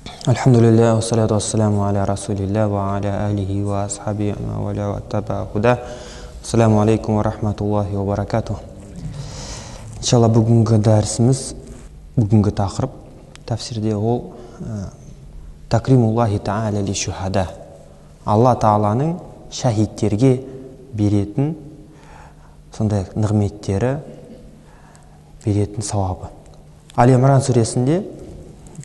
Alhamdulillah, wa salatu wa salamu ala rasulillah wa ala alihi wa ashabihi wa ala wa taba'a huda. Assalamu alaikum wa rahmатуллахи wa barakatuh. Иншалла бүгінгі дәрісіміз, бүгінгі тақырып тәфсирде ол такримуллахи та'аля ли шухада. Алла Тааланың шахидтерге беретін сондай нығметтері, беретін сауабы. Али Имран сүресінде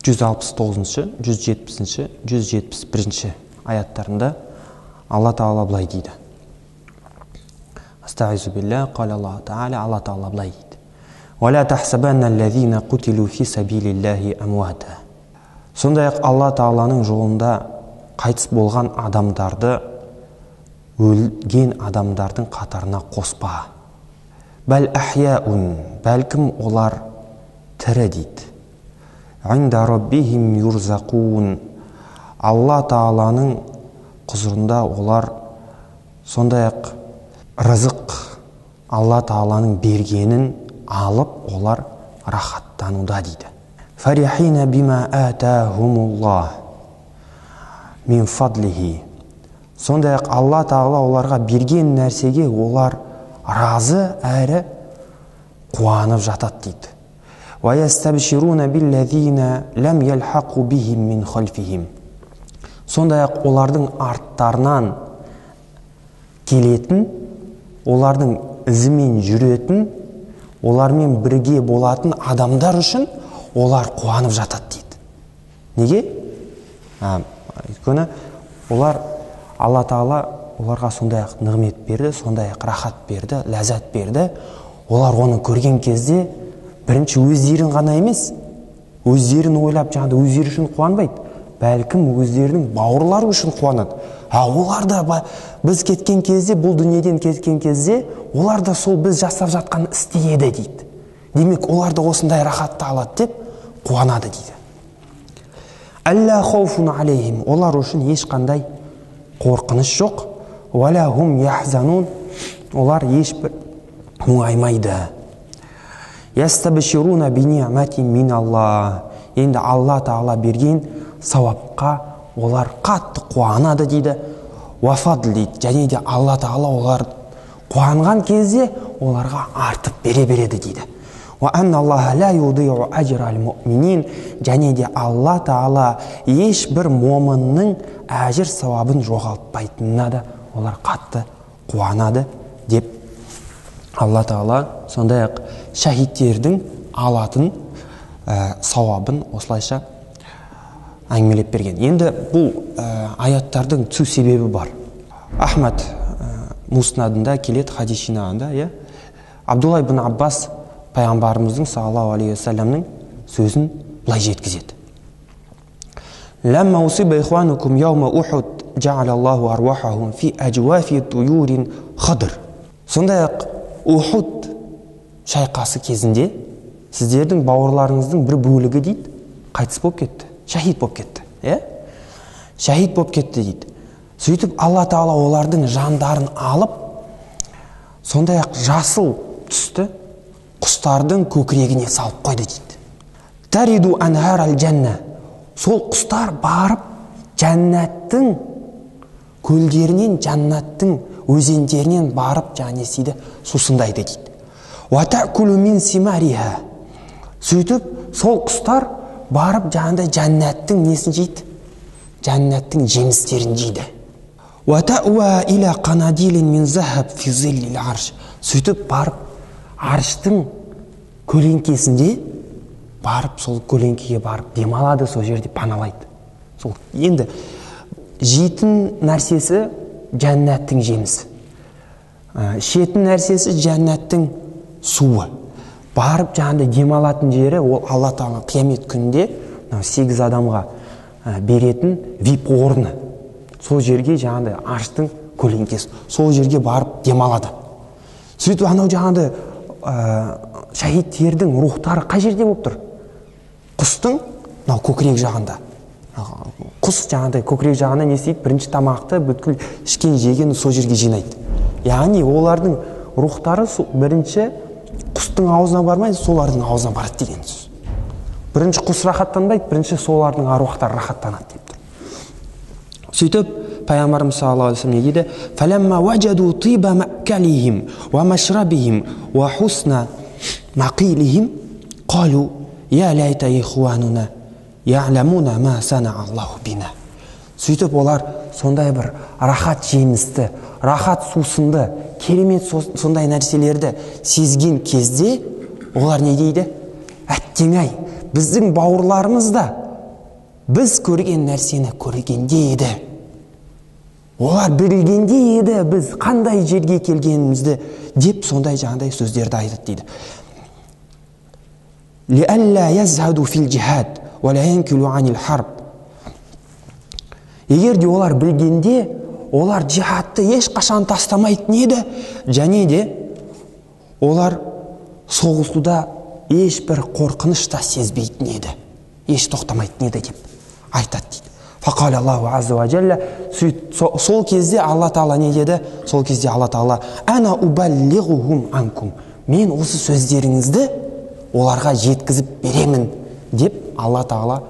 169-170, 171 аяттарында Алла Таала былай дейді. Астағизу билля, қал Аллаху Таала, Алла Таала былай дейді. Валя тахсабанна аллазина кутилу фи сабилиллахи амуата. Сондай-ақ Алла Тааланың жолында қайтыс болған адамдарды өлген адамдардың қатарына қоспа. Бәл ахяун, бәлкім олар тірі дейді. Инда раббихим юрзақун. Алла Тааланың құзырында олар сондай-ақ рызық Алла Тааланың бергенін алып, олар рахаттануда дейді. Фарихина бима атахумуллах мин фадлихи. Сондай-ақ Алла Таала оларға берген нәрсеге олар разы әрі қуанып жатады дейді. وَيَسْتَبْشِرُونَ بِالَّذِينَ لَمْ يَلْحَقُوا بِهِمْ مِنْ خَلْفِهِمْ. Сондай-ақ олардың арттарынан келетін, олардың ізімен жүретін, олармен бірге болатын адамдар үшін олар қуанып жатады дейді. Неге? Өйткені олар, Алла Таала оларға сондай-ақ нығмет берді, сондай-ақ рахат берді, ләззат берді. Олар оны көрген кезде бірінші өздерін ғана емес, өздерін ойлап жаңағыда өздері үшін қуанбайды, бәлкім өздерінің бауырлары үшін қуанады. Олар да біз кеткен кезде, бұл дүниеден кеткен кезде, олар да сол біз жасап жатқан істе еді дейді. Демек, олар да осындай рахатты алады деп қуанады дейді. Алла хауфун алейхим. Олар үшін ешқандай қорқыныш жоқ. Валя хум яхзанун. Олар ешбір мұңаймайды. Ястабшируна бини'матин миналлах. Енді Алла Таала берген сауапқа олар қатты қуанады дейді. Ва фадл дейді. Және де Алла Таала олар қуанған кезде оларға артып бере береді дейді. Ва анналлаха ла юди'у ажрал муъминин. Және де Алла Таала ешбір момынның әжір сауабын жоғалтпайтынына да олар қатты қуанады деп Алла Таала сондай-ақ шахидтердің алатын сауабын осылайша әңгімелеп берген. Енді бұл аяттардың түсу себебі бар. Ахмад муснадында келеді, хадис жинағында, Абдулла ибн Аббас пайғамбарымыздың саллаллаху алейхи уассаламның сөзін былай жеткізеді. Ламма усиба ихванукум яума ухуд жа'алаллаху арвахахум фи ажвафи туюрин хадр. Сондай-ақ Ухуд шайқасы кезінде сіздердің бауырларыңыздың бір бөлігі дейді, қайтыс болып кетті, шахид болып кетті. Шахид болып кетті дейді. Сөйтіп Алла Таала олардың жандарын алып, сондай-ақ жасыл түсті құстардың көкірегіне салып қойды дейді. Тариду анхар аль-жанна. Сол құстар барып жәннаттың көлдерінен, жаннаттың өзендерінен барып жаңесейді сусындайды дейді. Ва та'кулу мин симариха. Сөйтіп сол құстар барып жаңағыдай жәннаттың несін жейді? Жәннаттың жемістерін жейді. Ва та'уа иля қанадилин мин захаб фи зиллил арш. Сөйтіп барып арштың көлеңкесінде барып сол көлеңкеге барып демалады, сол жерде паналайды. Сол енді жейтін нәрсесі жәннаттың жемісі, ішетін нәрсесі жәннаттың суы. Барып жаңағыдай демалатын жері ол Алла Таала қиямет күнінде 8 адамға беретін вип орны. Сол жерге жаңағыдай арштың көлеңкесі, сол жерге барып демалады. Сөйтіп анау жаңағыдай шахидтердің рухтары қай жерде болып тұр? Құстың көкірек жағында. Құс жаңағыдай көкірек жағына не істейді? Бірінші тамақты бүткіл ішкен жеген сол жерге жинайды. Яғни олардың рухтары бірінші құстың аузына бармай, солардың аузына барады деген сөз. бірінші құс рахаттанбайды, бірінші солардың аруақтары рахаттанады деп тұр. Сөйтіп пайғамбарымыз саллаллаху алейхи вассалам не дейді? Фаламма ваджаду тиба маккалихим ва машрабихим ва хусна мақилихим қалу я лайта ихуануна я'ламуна ма сана Аллаху бина. Сөйтіп олар сондай бір рахат жемісті, рахат сусынды, керемет сондай нәрселерді сезген кезде олар не дейді? Әттең-ай, біздің бауырларымыз да біз көрген нәрсені көргенде еді. Олар білгенде еді біз қандай жерге келгенімізді деп сондай жаңағыдай сөздерді айтады дейді. Лиалла язхаду фил джихад ва ла янкилу анил харб. Егер де олар білгенде, олар джихадты ешқашан тастамайтын еді, және де олар соғысуда ешбір қорқыныш та сезбейтін еді, еш тоқтамайтын еді деп айтады дейді. Фақал Аллаху азза ва джалла. Сол кезде Алла Тағала не деді? Сол кезде Алла Тағала ана убаллигухум анкум. Мен осы сөздеріңізді оларға жеткізіп беремін деп Алла Тағала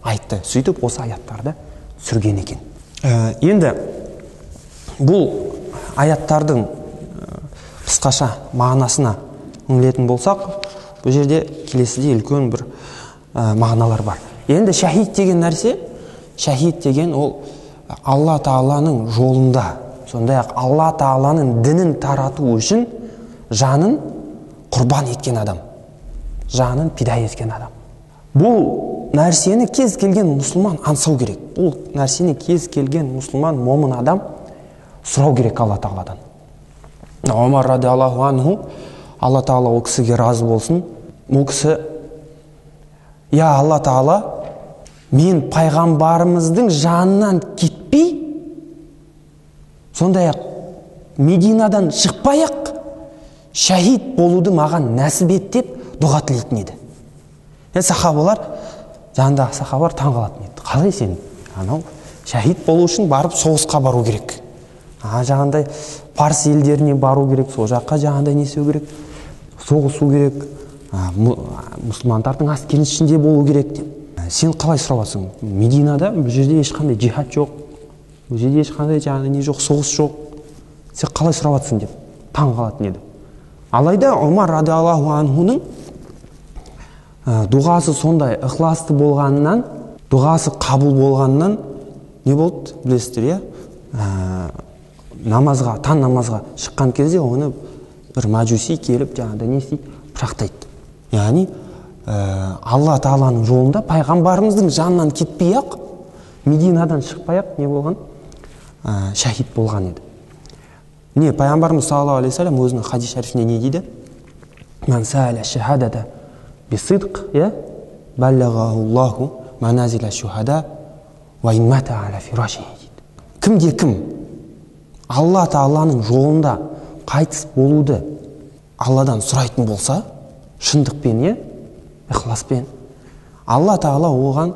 айтты. Сөйтіп осы аяттарды сүрген екен. Енді бұл аяттардың қысқаша мағынасына үңілетін болсақ, бұл жерде келесіде үлкен бір мағыналар бар. Енді шахид деген нәрсе, шахид деген ол Алла Тағаланың жолында, сондай-ақ Алла Тағаланың дінін тарату үшін жанын құрбан еткен адам, жанын пида еткен адам. Бұл нәрсені кез келген мұсылман аңсау керек. Бұл нәрсені кез келген мұсылман, момын адам сұрау керек Алла Тағаладан. Омар радиаллаху анху, Алла Тағала ол кісіге разы болсын, ол кісі: «Я Алла Тағала, мен пайғамбарымыздың жанынан кетпей, сондай-ақ Мединадан шықпай-ақ шахид болуды маған нәсіп ет» деп дұға тілейтін еді. Сахабалар, жанындағы сахабалар таң қалатын еді. Қалай сен анау шахид болу үшін барып соғысқа бару керек, жаңағындай парсы елдеріне бару керек, сол жаққа жаңағындай не істеу керек, соғысу керек, мұсылмандардың әскерінің ішінде болу керек деп. Сен қалай сұрап жатсың? Мединада бұл жерде ешқандай джихад жоқ, бұл жерде ешқандай жаңағындай не жоқ, соғыс жоқ. Сен қалай сұрап жатсың деп таң қалатын еді. Алайда Омар радиаллаху анхуның дұғасы сондай ықыласты болғанынан, дұғасы қабыл болғанынан не болды? Білесіздер, намазға, таң намазға шыққан кезде оны бір мәжуси келіп жаңағыдай не істейді? Пышақтайды. Яғни Алла Тағаланың жолында пайғамбарымыздың жанынан кетпей-ақ, Мединадан шықпай-ақ не болған? Шахид болған еді. Не пайғамбарымыз саллаллаху алейхи вассалам өзінің хадис шарифінде не дейді? Ман саля шахадата бисидқ, баллағахуллаху маназиля шухада ва иммата аля фирашихи дейді. Кімде-кім Алла Тағаланың жолында қайтыс болуды Алладан сұрайтын болса, шындықпен, ықыласпен, Алла Тағала оған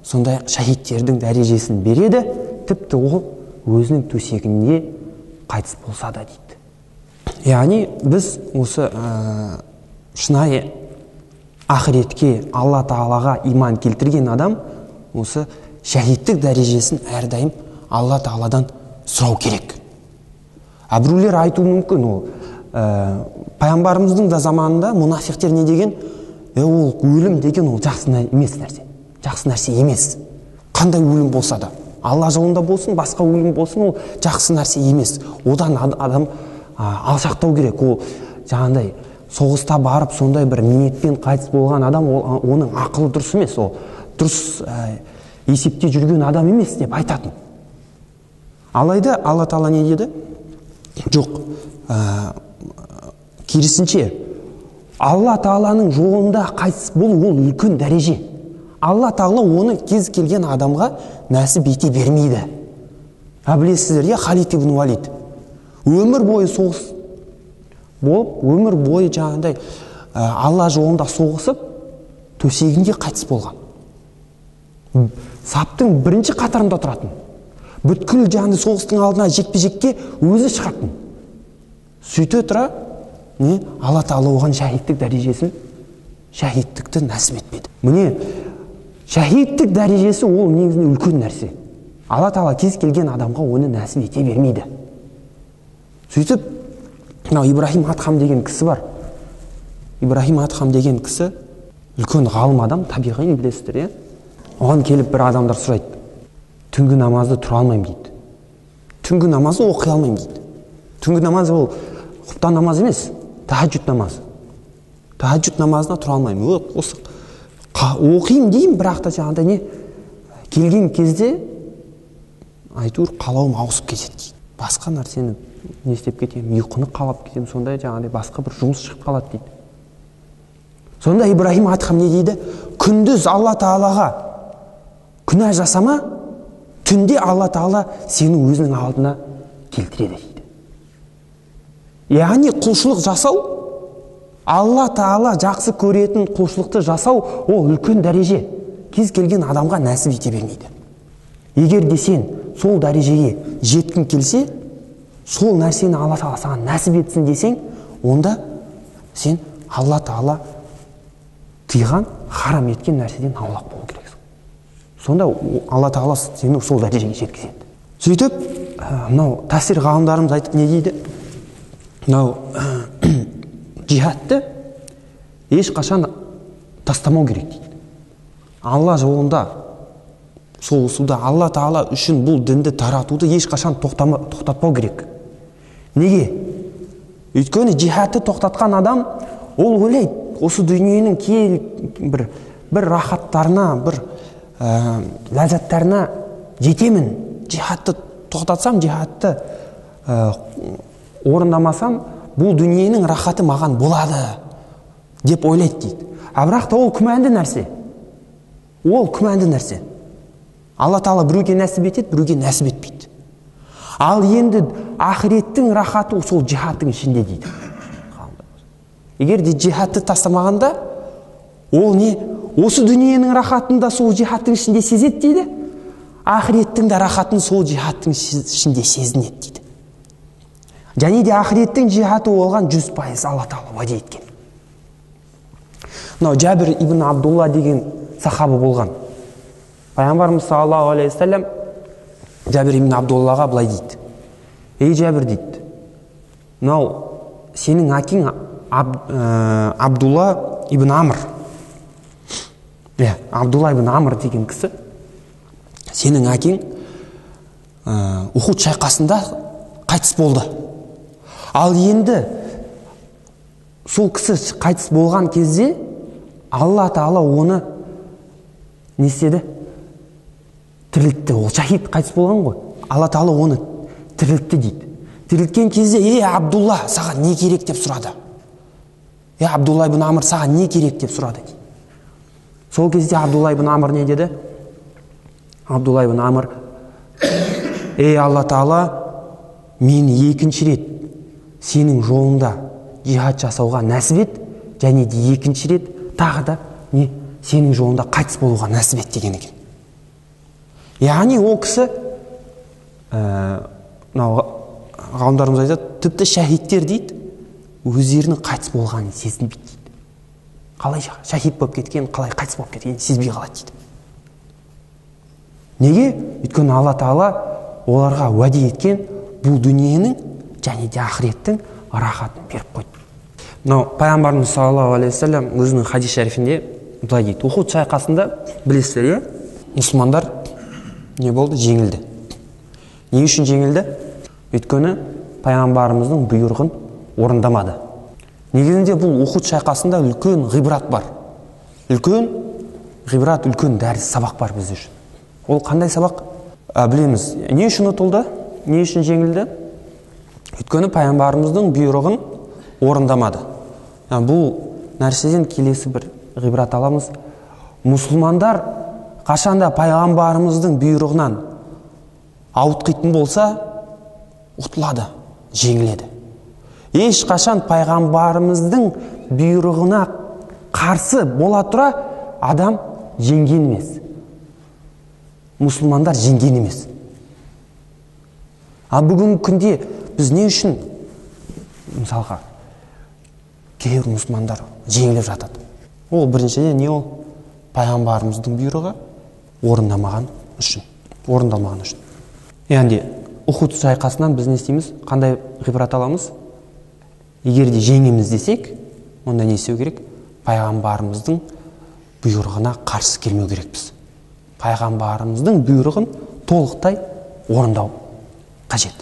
сондай шахидтердің дәрежесін береді, тіпті ол өзінің төсегінде қайтыс болса да дейді. Яғни біз осы шынайы ақыретке, Алла Тағалаға иман келтірген адам осы шахидтік дәрежесін әрдайым Алла Тағаладан сұрау керек. Біреулер айтуы мүмкін, ол пайғамбарымыздың да заманында мұнафиқтер не деген? Ол өлім деген ол жақсы емес нәрсе. Жақсы нәрсе емес. Қандай өлім болса да, Алла жолында болсын, басқа өлім болсын, ол жақсы нәрсе емес. Одан адам алшақтау керек. Ол жаңағындай соғыста барып сондай бір ниетпен қайтыс болған адам, оның ақылы дұрыс емес, ол дұрыс есепте жүрген адам емес деп айтатын. Алайда Алла Тағала не деді? Жоқ, керісінше, Алла Тағаланың жолында қайтыс болу ол үлкен дәреже. Алла Тағала оны кез келген адамға нәсіп ете бермейді. Білесіздер, Халид ибн Валид өмір бойы соғыс болып, өмір бойы жаңағындай Алла жолында соғысып, төсегінде қайтыс болған. Саптың бірінші қатарында тұратын. Бүткіл жаңағындай соғыстың алдына жекпе-жекке өзі шығатын. Сөйте тұра, Алла Тағала оған шахидтік дәрежесін шәһидтікті нәсіп етпеді. Міне шәһидтік дәрежесі ол негізінде үлкен нәрсе. Алла Тағала кез келген адамға оны нәсіп ете бермейді. Сөйтіп, Ибрахим Адхам деген кісі бар. Ибрахим Адхам деген кісі үлкен ғалым адам, табиғи білесіздер, оған келіп бір адамдар сұрайды. Түнгі намазды тұра алмаймын дейді. Түнгі намазды оқи алмаймын дейді. Түнгі намазы ол құптан намаз емес, тахаджуд намазы. Тахаджуд намазына тұра алмаймын. Осы оқимын деймін, бірақ та жаңағыдай не келген кезде айтуыр қалауым ауысып кетеді дейді. Басқа нәрсені не істеп кетемін, ұйқыны қалап кетемін, сондай жаңағыдай басқа бір жұмыс шығып қалады дейді. Сонда Ибрахим Адхам не дейді? Күндіз Алла Тағалаға күнә жасама, түнде Алла Тағала сені өзінің алдына келтіреді дейді. Яғни құлшылық жасау, Алла Тағала жақсы көретін құлшылықты жасау, ол үлкен дәреже. Кез келген адамға нәсіп ете бермейді. Егер де сен сол дәрежеге жеткің келсе, сол нәрсені Алла Тағала саған нәсіп етсін десең, онда сен Алла Тағала тыйған, харам еткен нәрседен аулақ болу керексің. Сонда Алла Тағала сені сол дәрежеге жеткізеді. Сөйтіп, мынау тәфсир ғалымдарымыз айтып не дейді? Мынау жихадты ешқашан тастамау керек дейді. Алла жолында соғысуда, Алла Тағала үшін бұл дінді таратуды ешқашан тоқтатпау керек. Неге? Өйткені жихадты тоқтатқан адам, ол ойлайды, осы дүниенің бір рахаттарына, бір ләззаттарына жетемін. Жихадты тоқтатсам, жихадты орындамасам, бұл дүниенің рахаты маған болады деп ойлайды дейді. Бірақ та ол күмәнді нәрсе. Ол күмәнді нәрсе. Алла Тағала біреуге нәсіп етеді, біреуге нәсіп етпейді. Ал енді ақыреттің рахаты сол жихадтың ішінде дейді. Егер де жихадты тастамағанда, ол не? Осы дүниенің рахатында сол жихадтың ішінде сезеді дейді. Ақыреттің де рахатын сол жихадтың ішінде сезінеді дейді. Және де ақыреттің жихаты олған 100% Алла Тағала уәде еткен. Жабир ибн Абдулла деген сахаба болған. Пайғамбарымыз саллаллаху алейхи ва саллям Жабир ибн Абдуллаға былай дейді: ей Жабир дейді, мынау сенің әкең Абдулла ибн Амр. Абдулла ибн Амр деген кісі, сенің әкең Ухуд шайқасында қайтыс болды. Ал енді сол кісі қайтыс болған кезде Алла Тағала оны не істеді? Тірілтті. Ол шахид қайтыс болған ғой. Алла Тағала оны тірілтті дейді. Тірілткен кезде, ей Абдулла, саған не керек деп сұрады. Абдулла ибн Амр, саған не керек деп сұрады дейді. Сол кезде Абдулла ибн Амр не деді? Абдулла ибн Амр: ей Алла Тағала, мені екінші рет сенің жолында жихад жасауға нәсіп ет, және де екінші рет тағы да сенің жолында қайтыс болуға нәсіп ет деген екен. Яғни ол кісі, ғалымдарымыз айтады, тіпті шәһидтер дейді, өздерінің қайтыс болғанын сезінбейді дейді. Қалай шәһид болып кеткен, қалай қайтыс болып кеткенін сезбей қалады дейді. Неге? Өйткені Алла Тағала оларға уәде еткен бұл дүниенің және де ақыреттің рахатын беріп қойды. Пайғамбарымыз саллаллаху алейхи ва саллям өзінің хадис шәрифінде былай дейді: Ухуд шайқасында білесіздер, мұсылмандар не болды? Жеңілді. Не үшін жеңілді? Өйткені пайғамбарымыздың бұйрығын орындамады. Негізінде бұл Ухуд шайқасында үлкен ғибрат бар. Үлкен ғибрат, үлкен дәріс, сабақ бар біз үшін. Ол қандай сабақ? Білеміз. Не үшін ұтылды? Не үшін жеңілді? Өйткені пайғамбарымыздың бұйрығын орындамады. Бұл нәрседен келесі бір ғибрат аламыз. Мұсылмандар қашанда пайғамбарымыздың бұйрығынан ауытқитын болса, ұтылады, жеңіледі. Ешқашан пайғамбарымыздың бұйрығына қарсы бола тұра адам жеңген емес. Мұсылмандар жеңген емес. Ал бүгінгі күнде біз не үшін, мысалға, кейбір мұсылмандар жеңіліп жатады? Ол біріншіден не ол? Пайғамбарымыздың бұйрығы орындалмаған үшін. Яғни Ухуд шайқасынан біз не істейміз? Қандай ғибрат аламыз? Егер де жеңеміз десек, онда не істеу керек? Пайғамбарымыздың бұйрығына қарсы келмеу керекпіз. Пайғамбарымыздың бұйрығын толықтай орындау қажет.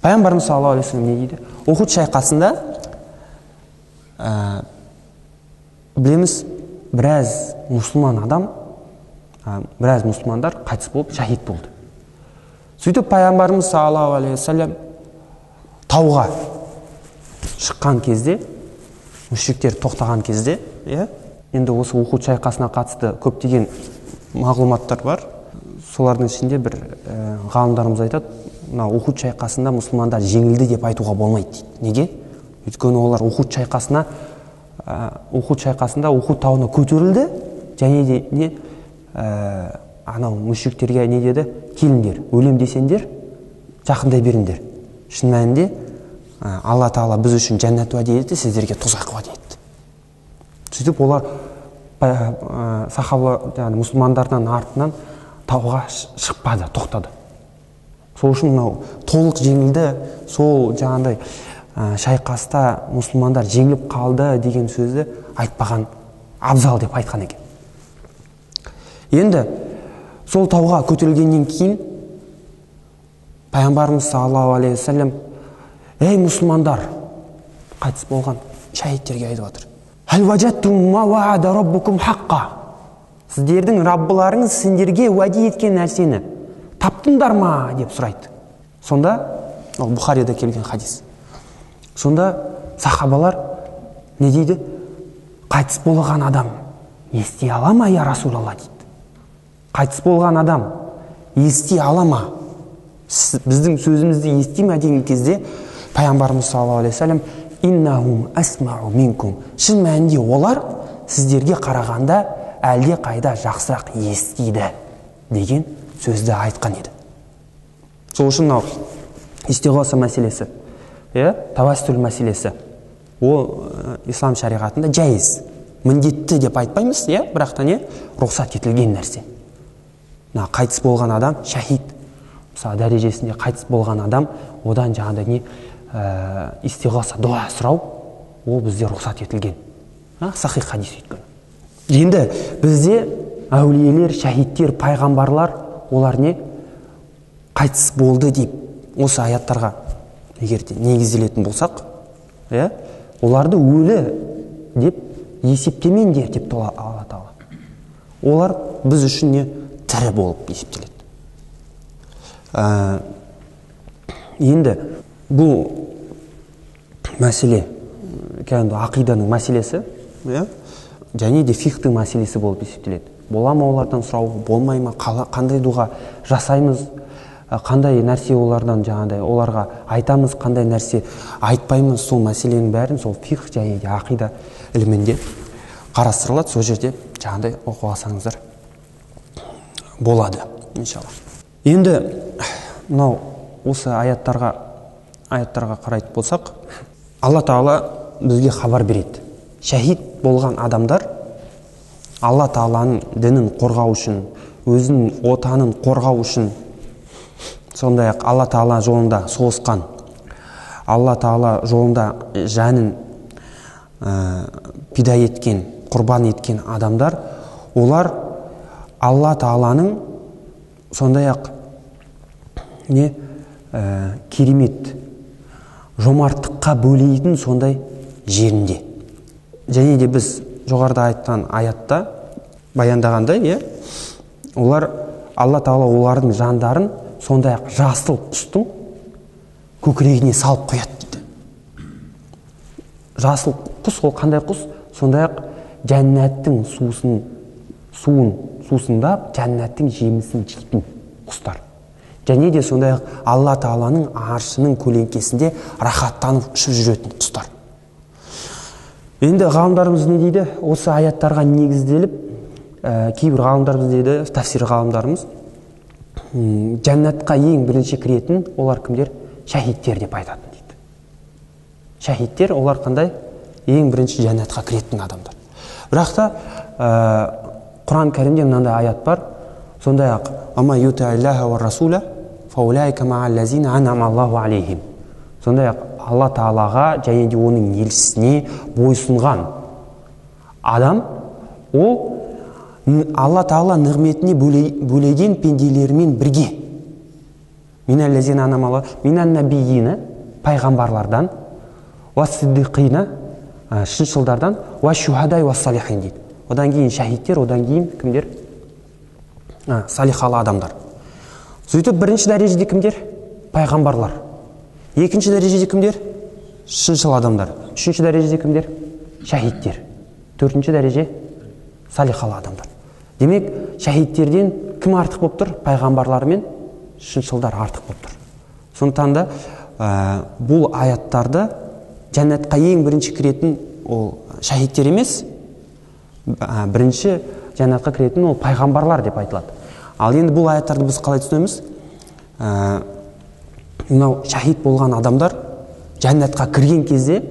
Пайғамбарымыз саллаллаху алейхи вассалам не дейді? Ухуд шайқасында білеміз, біраз мұсылмандар қайтыс болып шахид болды. Сөйтіп пайғамбарымыз саллаллаху алейхи вассалам тауға шыққан кезде, мүшриктер тоқтаған кезде, енді осы Ухуд шайқасына қатысты көптеген мағлұматтар бар. Солардың ішінде бір ғалымдарымыз айтады, Ухуд шайқасында мұсылмандар жеңілді деп айтуға болмайды дейді. Неге? Өйткені олар Ухуд шайқасында Ухуд тауына көтерілді, және де анау мүшриктерге не деді? Келіңдер, өлем десеңдер, жақындай беріңдер. Шын мәнінде Алла Тағала біз үшін жәннат уәде етті, сіздерге тозақ уәде етті. Сөйтіп олар мұсылмандардан артынан тауға шықпады, тоқтады. Сол үшін толық жеңілді, сол жаңағыдай шайқаста мұсылмандар жеңіліп қалды деген сөзді айтпаған, абзал деп айтқан екен. Енді сол тауға көтерілгеннен кейін пайғамбарымыз саллаллаху алейхи вассалам: ей мұсылмандар, қайтыс болған шахидтерге айтып отыр. Хал ваджаттум ма ваада раббукум хаққа. Сіздердің Раббыларыңыз сендерге уәде еткен нәрсені таптыңдар ма деп сұрайды. Сонда, ол Бұхарида келген хадис. Сонда сахабалар не дейді? Қайтыс болған адам ести ала ма, я Расулалла дейді. Қайтыс болған адам ести ала ма? Біздің сөзімізді ести ме деген кезде пайғамбарымыз саллаллаху алейхи вассалам: иннахум асмау минкум. Шын мәнінде олар сіздерге қарағанда әлде қайда жақсырақ естиді деген сөзді айтқан еді. Сол үшін истиғоса мәселесі, тавассул мәселесі, ол ислам шариғатында жайыз, міндетті деп айтпаймыз, бірақ та рұқсат етілген нәрсе. Қайтыс болған адам шахид, мысалы дәрежесінде қайтыс болған адам, одан жаңағыдай истиғоса, дуа сұрау, ол бізде рұқсат етілген. Сахих хадис өйткені. Енді бізде әулиелер, шахидтер, пайғамбарлар, олар қайтыс болды деп осы аяттарға егер негізделетін болсақ, оларды өлі деп есептемеңдер деп Алла Тағала. Олар біз үшін тірі болып есептеледі. Енді бұл мәселе ақиданың мәселесі, және де фихтың мәселесі болып есептеледі. Бола ма олардан сұрау, болмай ма, қандай дұға жасаймыз, қандай нәрсе олардан жаңағыдай оларға айтамыз, қандай нәрсе айтпаймыз, сол мәселенің бәрін сол фих және де ақида ілімінде қарастырылады. Сол жерде жаңағыдай оқып алсаңыздар болады, иншалла. Енді осы аяттарға қарайтын болсақ, Алла Тағала бізге хабар береді. Шахид болған адамдар Алла Тағаланың дінін қорғау үшін, өзінің отанын қорғау үшін, сондай-ақ Алла Тағала жолында соғысқан, Алла Тағала жолында жанын пида еткен, құрбан еткен адамдар, олар Алла Тағаланың сондай-ақ керемет жомарттыққа бөлейтін сондай жерінде. Және де біз жоғарыда айтқан аятта баяндағандай, олар Алла Тағала олардың жандарын сондай-ақ жасыл құстың көкірегіне салып қояды дейді. Жасыл құс ол қандай құс? Сондай-ақ жәннаттың сусындап, жәннаттың жемісін жейтін құстар. Және де сондай-ақ Алла Тағаланың аршының көлеңкесінде рахаттанып ұшып жүретін құстар. Енді ғалымдарымыз не дейді? Осы аяттарға негізделіп, кейбір ғалымдарымыз дейді, тафсир ғалымдарымыз, жәннатқа ең бірінші кіретін олар кімдер? Шахидтер деп айтатын дейді. Шахидтер олар қандай? Ең бірінші жәннатқа кіретін адамдар. Бірақ та Құран кәрімде мынандай аят бар. Сондай ақ ама ютаиллаха ва расула фаулайка мааллазина анамаллаху алейхим. Сондай ақ Алла Тағалаға және де оның елшісіне бойсұнған адам, ол Алла Тағала нығметіне бөлеген пенделермен бірге. Миналлазина анамаллаху минан набийина, пайғамбарлардан, ва сиддиқина, шыншылдардан, ва шухадай ва салихин дейді. Одан кейін шахидтер, одан кейін кімдер? Салихалы адамдар. Сөйтіп бірінші дәрежеде кімдер? Пайғамбарлар. Екінші дәрежеде кімдер? Шыншыл адамдар. Үшінші дәрежеде кімдер? Шахидтер. Төртінші дәреже? Салихалы адамдар. Демек, шахидтерден кім артық болып тұр? Пайғамбарлар мен шыншылдар артық болып тұр. Сондықтан да бұл аяттарды жәннатқа ең бірінші кіретін ол шахидтер емес, бірінші жәннатқа кіретін ол пайғамбарлар деп айтылады. Ал енді бұл аяттарды біз қалай түсінеміз? Мынау шахид болған адамдар жәннатқа кірген кезде,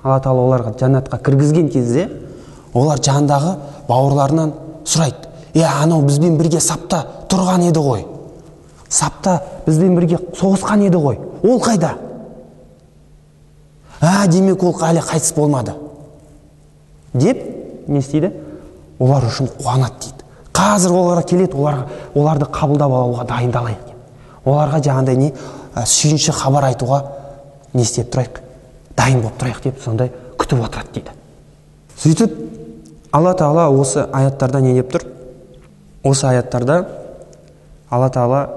Алла Тағала оларға жәннатқа кіргізген кезде, олар жандағы бауырларынан сұрайды: анау бізбен бірге сапта тұрған еді ғой, сапта бізбен бірге соғысқан еді ғой, ол қайда? Демек ол әлі қайтыс болмады деп не істейді? Олар үшін қуанады дейді. Қазір оларға келеді, оларды қабылдап алуға дайындалайық деп. Оларға жаңағыдай не сүйінші хабар айтуға не істеп тұрайық, дайын болып тұрайық деп сондай күтіп отырады дейді. Сөйтіп Алла Тағала осы аяттарда не деп тұр? Осы аяттарда Алла Тағала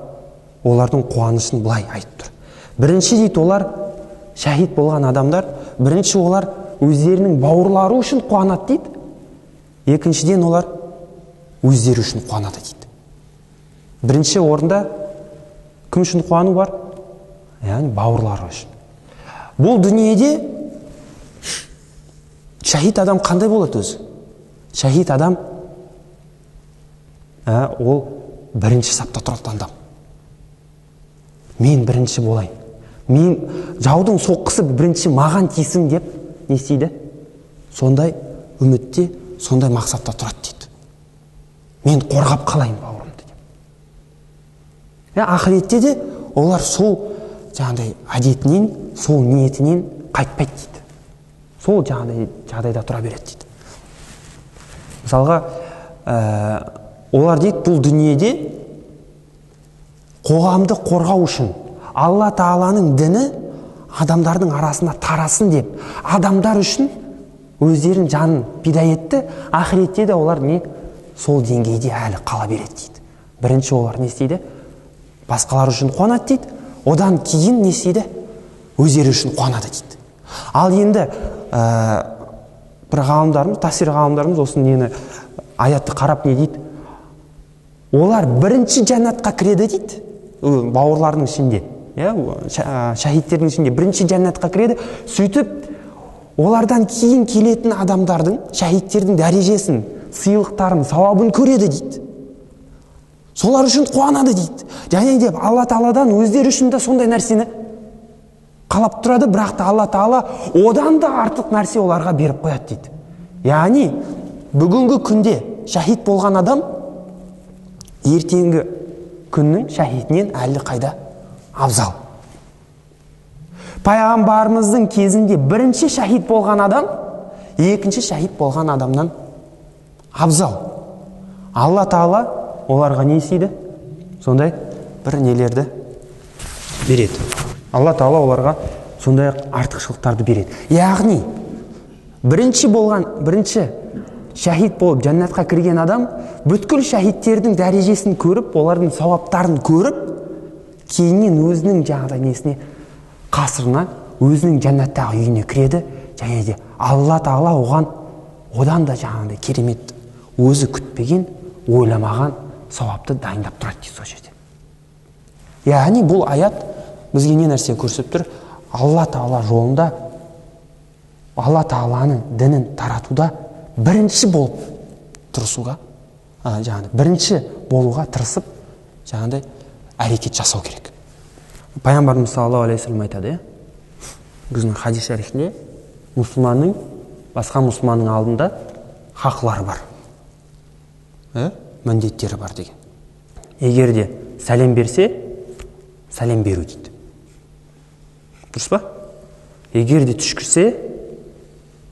олардың қуанышын былай айтып тұр. Бірінші дейді, олар шахид болған адамдар, бірінші олар өздерінің бауырлары үшін қуанады дейді. Екіншіден олар өздері үшін қуанады дейді. Бірінші орында кім үшін қуану бар? Яғни бауырлары үшін. Бұл дүниеде шахид адам қандай болады өзі? Шахид адам ол бірінші сапта тұратын адам. Мен бірінші болайын. Мен жаудың соққысы бірінші маған тисін деп не істейді? Сондай үмітте, сондай мақсатта тұрады дейді. Мен қорғап қалайын бауырымды деп. Ақыретте де олар сол жаңағыдай әдетінен, сол ниетінен қайтпайды дейді. Сол жаңағыдай жағдайда тұра береді дейді. Мысалға, олар дейді, бұл дүниеде қоғамды қорғау үшін Алла Тағаланың діні адамдардың арасында тарасын деп, адамдар үшін өздерін жанын пида етті. Ақыретте де олар не сол деңгейде әлі қала береді дейді. Бірінші олар не істейді? Басқалар үшін қуанады дейді. Одан кейін не істейді? Өздері үшін қуанады дейді. Ал енді бір ғалымдарымыз, тафсир ғалымдарымыз осы нені аятты қарап не дейді? Олар бірінші жәннатқа кіреді дейді. Бауырларының ішінде, шахидтердің ішінде бірінші жәннатқа кіреді. Сөйтіп олардан кейін келетін адамдардың, шахидтердің дәрежесін, сыйлықтарын, сауабын көреді дейді. Солар үшін қуанады дейді. Және деп Алла Тағаладан өздері үшін де сондай нәрсені қалап тұрады, бірақ та Алла Тағала одан да артық нәрсе оларға беріп қояды дейді. Яғни бүгінгі күнде шахид болған адам ертеңгі күннің шахидінен әлі қайда абзал. Пайғамбарымыздың кезінде бірінші шахид болған адам екінші шахид болған адамнан абзал. Алла Тағала оларға не істейді? Сондай бір нелерді береді. Алла Тағала оларға сондай артықшылықтарды береді. Яғни бірінші шахид болып жәннатқа кірген адам бүткіл шахидтердің дәрежесін көріп, олардың сауаптарын көріп, кейіннен өзінің жаңағыдай несіне, қасырына, өзінің жәннаттағы үйіне кіреді. Және де Алла Тағала одан да жаңағыдай керемет, өзі күтпеген, ойламаған сауапты дайындап тұрады дейді сол жерде. Яғни бұл аят бізге не нәрсе көрсетіп тұр? Алла Тағала жолында, Алла Тағаланың дінін таратуда бірінші болып тұрысуға, бірінші болуға тырысып, жаңағыдай әрекет жасау керек. Пайғамбарымыз саллаллаху алейхи вассалам айтады, біздің хадис шарифінде, мұсылманның басқа мұсылманның алдында хақлары бар, міндеттері бар деген. Егер де сәлем берсе, сәлем беру дейді. Дұрыс па? Егер де түшкірсе,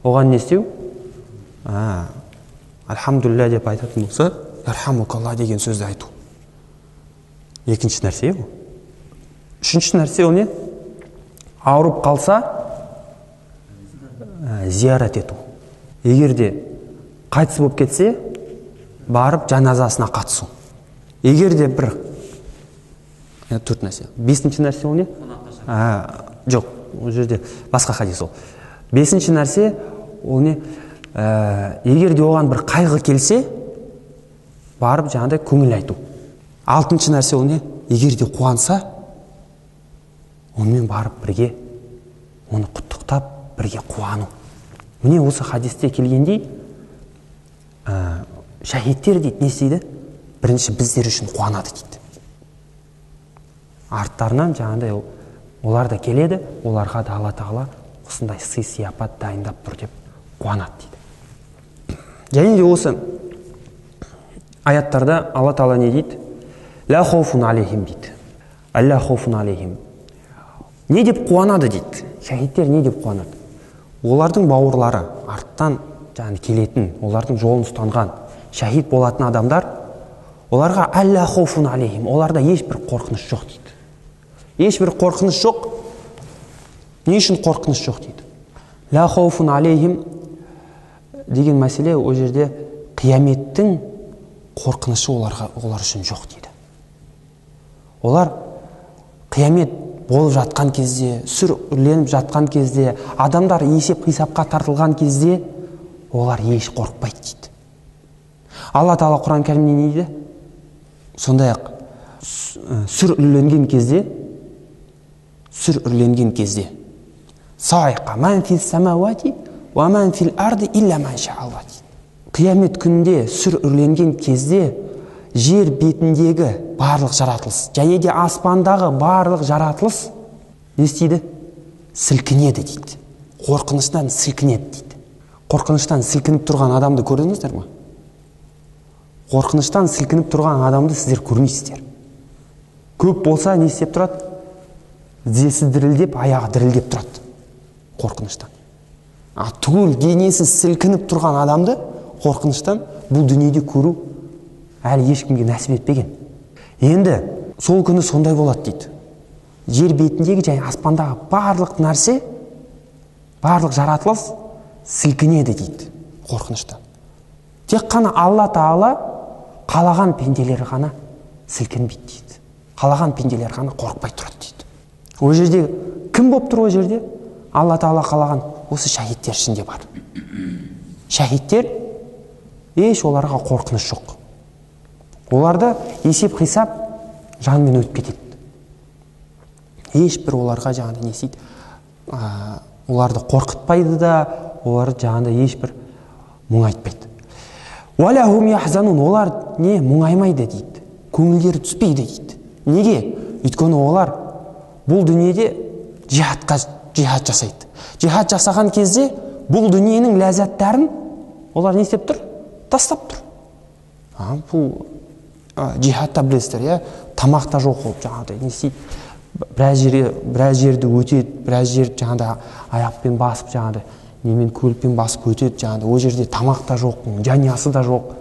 оған не істеу? Альхамдулилля деп айтатын болса, ярхамукалла деген сөзді айту. Екінші нәрсе ол. Үшінші нәрсе ол не? Ауырып қалса, зиярат ету. Егер де қайтыс болып кетсе, барып жаназасына қатысу. Егер де бір төрт нәрсе. Бесінші нәрсе ол не? Жоқ, ол жерде басқа хадис ол. Бесінші нәрсе ол не? Егер де оған бір қайғы келсе, барып жаңағыдай көңіл айту. Алтыншы нәрсе ол не? Егер де қуанса, онымен барып бірге оны құттықтап, бірге қуану. Міне осы хадисте келгендей, шахидтер дейді, не істейді? Бірінші біздер үшін қуанады дейді. Арттарынан жаңағыдай олар да келеді, оларға да Алла Тағала осындай сый сияпат дайындап тұр деп қуанады дейді. Және де осы аяттарда Алла Тағала не дейді? Ла хауфун алейхим дейді. Алла хауфун алейхим. Не деп қуанады дейді? Шахидтер не деп қуанады? Олардың бауырлары, арттан келетін, олардың жолын ұстанған, шахид болатын адамдар, оларға алла хауфун алейхим, оларда ешбір қорқыныш жоқ дейді. Ешбір қорқыныш жоқ. Не үшін қорқыныш жоқ дейді? Ла хауфун алейхим деген мәселе о жерде қияметтің қорқынышы олар үшін жоқ дейді. Олар қиямет болып жатқан кезде, сүр үрленіп жатқан кезде, адамдар есеп қисапқа тартылған кезде олар еш қорықпайды дейді. Алла Тағала Құран кәрімде не дейді? Сондай-ақ сүр үрленген кезде саиқа ман фил самауати ва ман фил арди илля ман шаалла дейді. Қиямет күнінде сүр үрленген кезде жер бетіндегі барлық жаратылыс, және де аспандағы барлық жаратылыс не істейді? Сілкінеді дейді. Қорқыныштан сілкінеді дейді. Қорқыныштан сілкініп тұрған адамды көрдіңіздер ме? Қорқыныштан сілкініп тұрған адамды сіздер көрмейсіздер. Көп болса не істеп тұрады? Тізесі дірілдеп, аяғы дірілдеп тұрады қорқыныштан. Түгел денесі сілкініп тұрған адамды қорқыныштан бұл дүниеде көру әлі ешкімге нәсіп етпеген. Енді сол күні сондай болады дейді. Жер бетіндегі және аспандағы барлық нәрсе, барлық жаратылыс сілкінеді дейді қорқыныштан. Тек қана Алла Тағала қалаған пенделер ғана сілкінбейді дейді. Қалаған пенделер ғана қорықпай тұрады дейді. О жерде кім болып тұр? О жерде Алла Тағала қалаған осы шахидтер ішінде бар. Шахидтер еш оларға қорқыныш жоқ. Оларда есеп қисап жанымен өтіп кетеді. Ешбір оларға жаңағыдай не істейді? Оларды қорқытпайды да, олар жаңағыдай ешбір мұңайтпайды. Уалахум яхзанун, олар не мұңаймайды дейді. Көңілдері түспейді дейді. Неге? Өйткені олар бұл дүниеде жихад жасайды. Жихад жасаған кезде бұл дүниенің ләззаттарын олар не істеп тұр? Тастап тұр. Бұл жихадта білесіздер, тамақта жоқ болып жаңағыдай не істейді? Біраз жерді өтеді, біраз жер жаңағыдай аяқпен басып жаңағыдай немен көлікпен басып өтеді, жаңағыдай о жерде тамақ та жоқ, жанұясы да жоқ.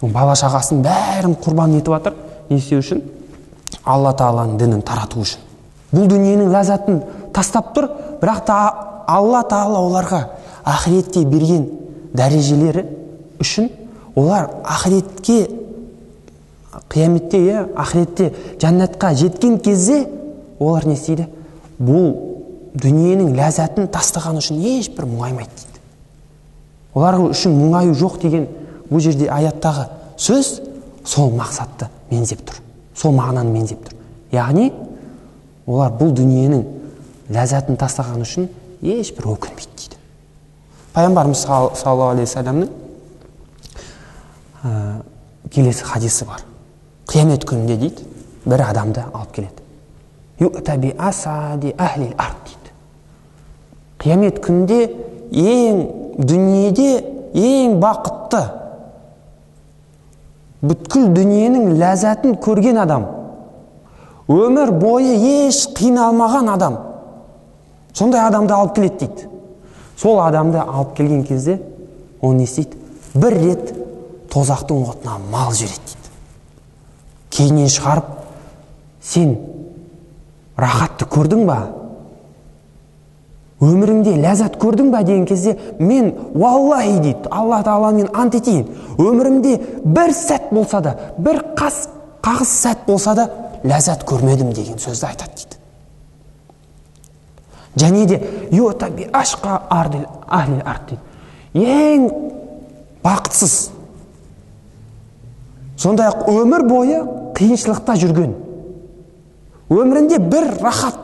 Бала шағасын бәрін құрбан етіп жатыр. Не істеу үшін? Алла Тағаланың дінін тарату үшін. Бұл дүниенің ләззатын тастап тұр, бірақ та Алла Тағала оларға ақиретте берген дәрежелері үшін олар ақиретке, қияметте, ақиретте жәннатқа жеткен кезде олар не істейді? Бұл дүниенің ләззатын тастаған үшін ешбір мұңаймайды дейді. Олар үшін мұңаю жоқ деген бұл жерде аяттағы сөз сол мақсатты меңзеп тұр. Сол мағынаны меңзеп тұр. Яғни олар бұл дүниенің ләззатын тастаған үшін ешбір өкінбейді дейді. Пайғамбарымыз саллаллаху алейхи вассаламның келесі хадисі бар. Қиямет күнінде дейді, бір адамды алып келеді. Ю'таби асади ахлил ард дейді. Қиямет күнінде ең дүниеде ең бақытты, бүткіл дүниенің ләззатын көрген адам, өмір бойы еш қиналмаған адам, сондай адамды алып келеді дейді. Сол адамды алып келген кезде ол не істейді? Бір рет тозақтың отына мал жібереді дейді. Кейіннен шығарып, сен рахатты көрдің ба? Өміріңде ләззат көрдің ба деген кезде, мен валлахи дейді, Алла Тағаламен ант етейін, өмірімде бір сәт болса да, бір қағыс сәт болса да ләззат көрмедім деген сөзді айтады дейді. Және де йота би ашқа ахлил ард дейді. Ең бақытсыз, сондай-ақ өмір бойы қиыншылықта жүрген, өмірінде бір рахат,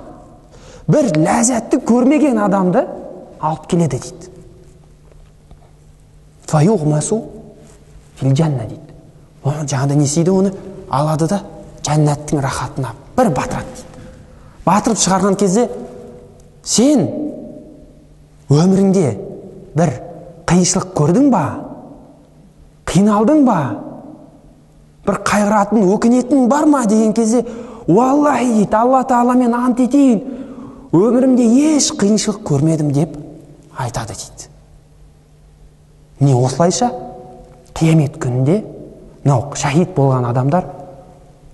бір ләззатты көрмеген адамды алып келеді дейді. Фаюғмасу фил жанна дейді. Жаңағыда не істейді? Оны алады да жәннаттың рахатына бір батырады дейді. Батырып шығарған кезде, сен өміріңде бір қиыншылық көрдің ба? Қиналдың ба? Бір қайғыратын, өкінетін бар ма деген кезде, уаллахи дейді, Алла Тағаламен ант етейін, өмірімде еш қиыншылық көрмедім деп айтады дейді. Не осылайша қиямет күнінде шахид болған адамдар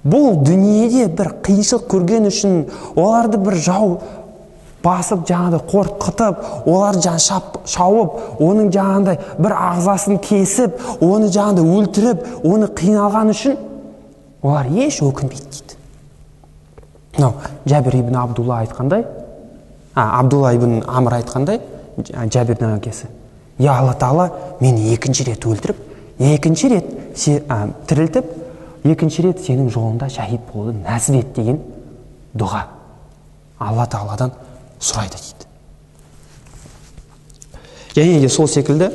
бұл дүниеде бір қиыншылық көрген үшін, оларды бір жау басып, жаңағыдай қорқытып, олар шауып, оның жаңағыдай бір ағзасын кесіп, оны жаңағыдай өлтіріп, оны қиналған үшін олар еш өкінбейді дейді. Жәбір ибн Абдулла айтқандай, Абдулла ибн Амр айтқандай, Жәбірдің әкесі, я Алла Тағала мені екінші рет өлтіріп, екінші рет тірілтіп, екінші рет сенің жолында шахид болуды нәсіп ет деген дұға Алла Тағаладан сұрайды дейді. Және де сол секілді,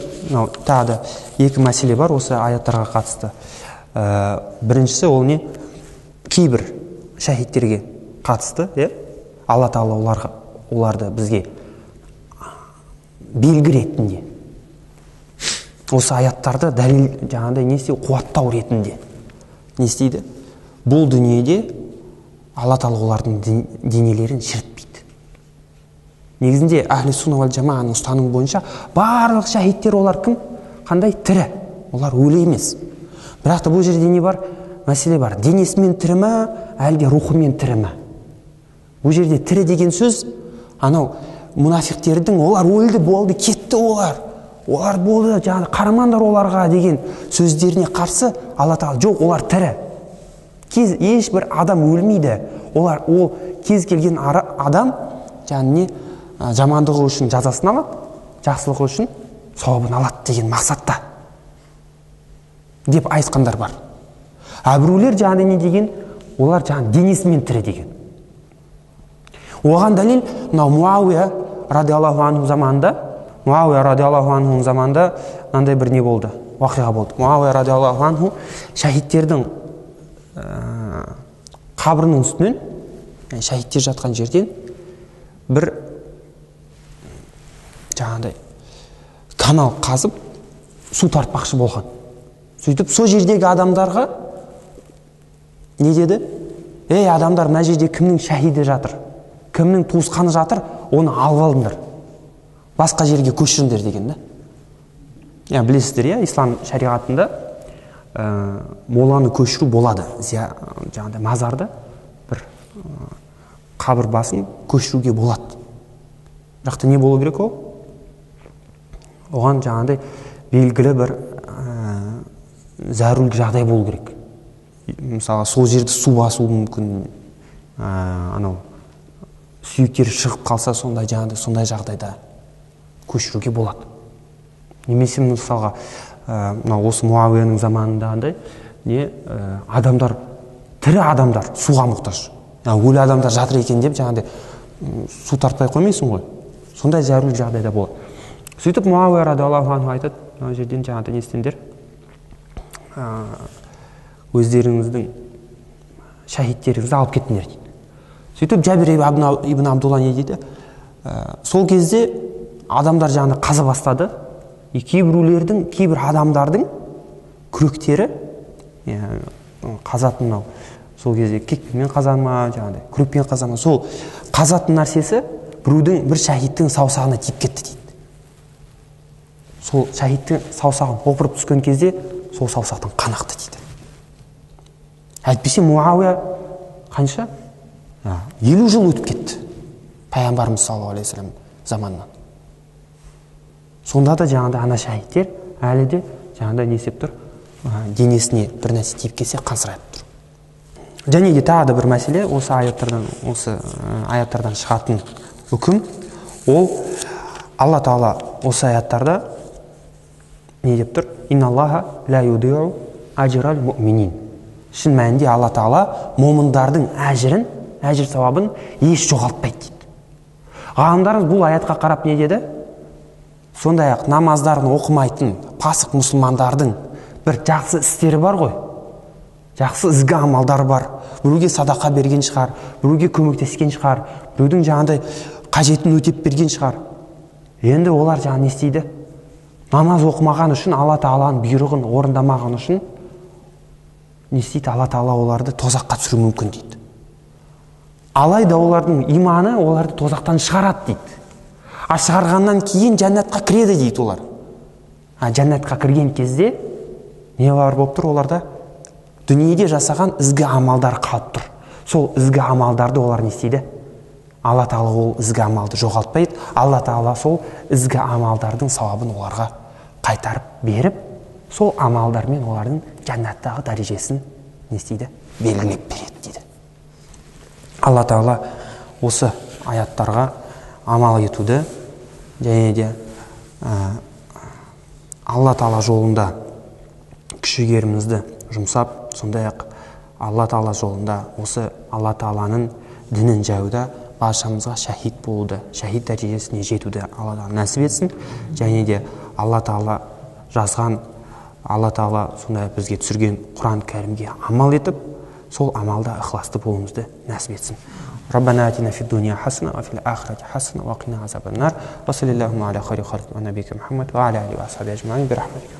тағы да екі мәселе бар осы аяттарға қатысты. Біріншісі ол не? Кейбір шахидтерге қатысты, Алла Тағала оларды бізге белгі ретінде, осы аяттарды дәлел жаңағыдай не істейді? Қуаттау ретінде не істейді? Бұл дүниеде Алла Тағала олардың денелерін шірітпейді. Негізінде әхлі сунна вал жамааның ұстанымы бойынша барлық шахидтер олар кім? Қандай? Тірі. Олар өлі емес. Бірақ та бұл жерде не бар? Мәселе бар. Денесімен тірі ме, әлде рухымен тірі ме? Бұл жерде тірі деген сөз, анау мұнафиқтердің олар өлді, болды, кетті олар болды, жаңағы қарамандар оларға деген сөздеріне қарсы Алла Тағала жоқ, олар тірі. Ешбір адам өлмейді. Ол кез келген адам жаңағы жамандығы үшін жазасын алады, жақсылығы үшін сауабын алады деген мақсатта деп айтқандар бар. Біреулер жаңағы не деген? Олар жаңағы денесімен тірі деген. Оған дәлел Муауия радиаллаху анху заманында мынандай бір не болды, уақиға болды. Муауия радиаллаху анху шахидтердің қабірінің үстінен, шахидтер жатқан жерден бір жаңағыдай канал қазып су тартпақшы болған. Сөйтіп сол жердегі адамдарға не деді? Ей адамдар, мына жерде кімнің шахиді жатыр, кімнің туысқаны жатыр, оны алып алыңдар, басқа жерге көшіріңдер деген да. Білесіздер, ислам шариғатында моланы көшіру болады. Жаңағыдай мазарды бір қабір басын көшіруге болады. Бірақ та не болу керек ол? Оған жаңағыдай белгілі бір зәрулік жағдай болу керек. Мысалы, сол жерді су басуы мүмкін, анау сүйектері шығып қалса, сондай жағдайда көшіруге болады. Немесе мысалға, осы Муауияның заманында адамдар, тірі адамдар суға мұқтаж. Өлі адамдар жатыр екен деп жаңағыдай су тартпай қоймайсың ғой. Сондай зәрулік жағдайда болады. Сөйтіп Муауия радиаллаху анху айтады, мына жерден жаңағыдай не істеңдер? Өздеріңіздің шахидтеріңізді алып кеттіңдер дейді. Сөйтіп Жәбір ибн Абдулла не дейді? Сол кезде адамдар жаңағыдай қаза бастады, кейбіреулердің, кейбір адамдардың күректері қазатын, мынау сол кезде кекпенмен қаза ма, жаңағыдай күрекпен қаза ма, сол қазатын нәрсесі біреудің, бір шәһидтің саусағына тиіп кетті дейді. Сол шәһидтің саусағын опырып түскен кезде сол саусақтан қан ақты дейді. Әйтпесе Муауия қанша? 50 жыл өтіп кетті пайғамбарымыз саллаллаху алейхи вассалам заманынан. Сонда да жаңағыдай ана шәһидтер әлі де жаңағыдай не істеп тұр, денесіне бір нәрсе тиіп келсе қансырап тұр. Және де тағы да бір мәселе, осы аяттардан шығатын үкім, ол Алла Тағала осы аяттарда не деп тұр? Инналлаха ла юдиу ажрал муъминин. Шын мәнінде Алла Тағала момындардың әжір сауабын еш жоғалтпайды дейді. Ғалымдарымыз бұл аятқа қарап не деді? Сондай-ақ намаздарын оқымайтын пасық мұсылмандардың бір жақсы істері бар ғой. Жақсы ізгі амалдар бар. Біреуге садақа берген шығар, біреуге көмектескен шығар, біреудің жаңағыдай қажетін өтеп берген шығар. Енді олар жаңа не істейді? Намаз оқымаған үшін, Алла Тағаланың бұйрығын орындамаған үшін не істейді? Алла Тағала оларды тозаққа түсіруі мүмкін дейді. Алайда олардың иманы оларды тозақтан шығарады дейді. Шығарғаннан кейін жәннатқа кіреді дейді олар. Жәннатқа кірген кезде не бар болып тұр оларда? Дүниеде жасаған ізгі амалдар қалып тұр. Сол ізгі амалдарды олар не істейді? Алла Тағала ол ізгі амалды жоғалтпайды. Алла Тағала сол ізгі амалдардың сауабын оларға қайтарып беріп, сол амалдармен олардың жәннаттағы дәрежесін не істейді? Белгілеп береді дейді. Алла Тағала осы аяттарға амал етуді және де Алла Тағала жолында күш-жігерімізді жұмсап, сондай-ақ Алла Тағала жолында осы Алла Тағаланың дінін жаюда баршамызға шәһид болуды, шәһид дәрежесіне жетуді Алла Тағала нәсіп етсін. Және де Алла Тағала жазған, Алла Тағала сондай бізге түсірген Құран кәрімге амал етіп, сол амалда ықыласты болуымызды нәсіп етсін. ربنا آتنا في الدنيا حسنة وفي الآخرة حسنة وقنا عذاب النار وصلى اللهم على خير خلق نبيك محمد وعلى آله وصحبه أجمعين برحمتك.